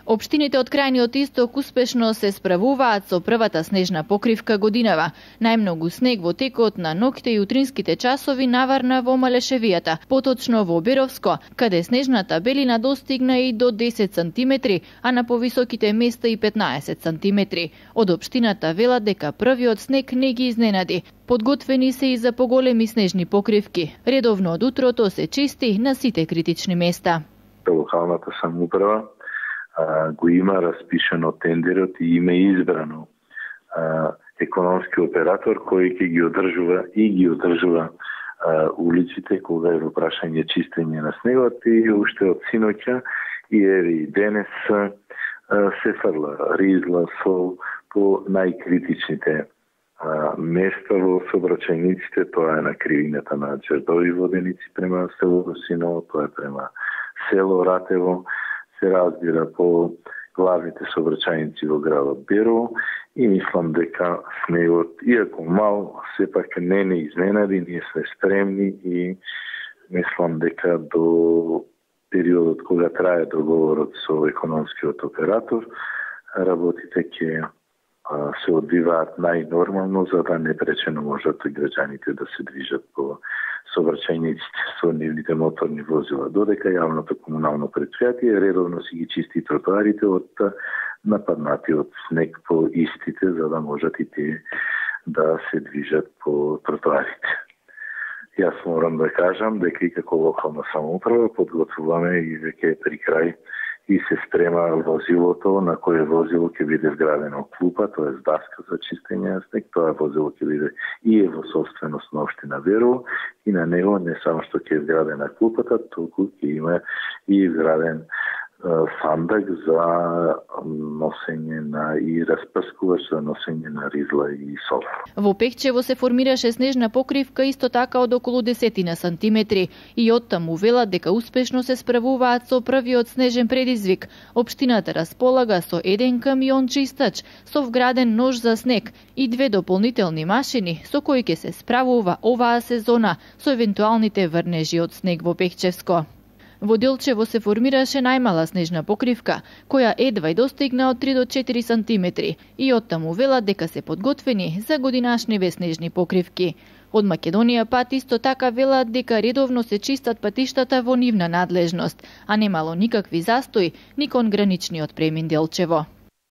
Општините од крајниот исток успешно се справуваат со првата снежна покривка годинава. Најмногу снег во текот на ноќте и утринските часови наварна во Малешевијата, поточно во Беровско, каде снежната белина достигна и до 10 сантиметри, а на повисоките места и 15 сантиметри. Од општината велат дека првиот снег не ги изненади. Подготвени се и за поголеми снежни покривки. Редовно од утрото се чисти на сите критични места. Локалната самоуправа го има распишено тендерот и има избрано економски оператор кој ќе ги одржува улиците кога е во прашање чистење на снегот и уште од синоќа и еви денес се фрла ризла, сол по најкритичните места во сообраќајниците. Тоа е на кривината на Џердови воденици према село Русиново, тоа е према село Ратево, се разбира по главните сообраќајници во градот Берово и мислам дека снегот, иако мал, сепак не изненади, ние сме спремни и мислам дека до периодот кога трае договорот со економскиот оператор, работите ќе се одвиваат најнормално, за да не пречено можат и граѓаните да се движат по сообраќајниците со нивните моторни возила, додека јавното комунално претпријатие редовно си ги чисти тротоарите од нападнатиот снег по истите, за да можат и тие да се движат по тротоарите. Јас морам да кажам дека и како локална самоуправа подготвуваме и веќе при крај и се спрема возилото, на кое возило ќе биде вградено клупа, тоа е даска за чистење на снег. Тоа возило ќе биде и е во собственост на општина Берово и на него не само што ќе е вградена клупата, туку ќе има и вграден сандак за носење на и распрскувач за носење на ризла и сол. Во Пехчево се формираше снежна покривка исто така од околу 10 сантиметри и оттаму велат дека успешно се справуваат со првиот снежен предизвик. Општината располага со еден камион чистач со вграден нож за снег и 2 дополнителни машини со кои ќе се справува оваа сезона со евентуалните врнежи од снег во Пехчевско. Во Делчево се формираше најмала снежна покривка, која едва достигна од 3 до 4 сантиметри и оттаму велат дека се подготвени за годинашниве снежни покривки. Од Македонија пат исто така велат дека редовно се чистат патиштата во нивна надлежност, а немало никакви застои ни кон граничниот премин Делчево.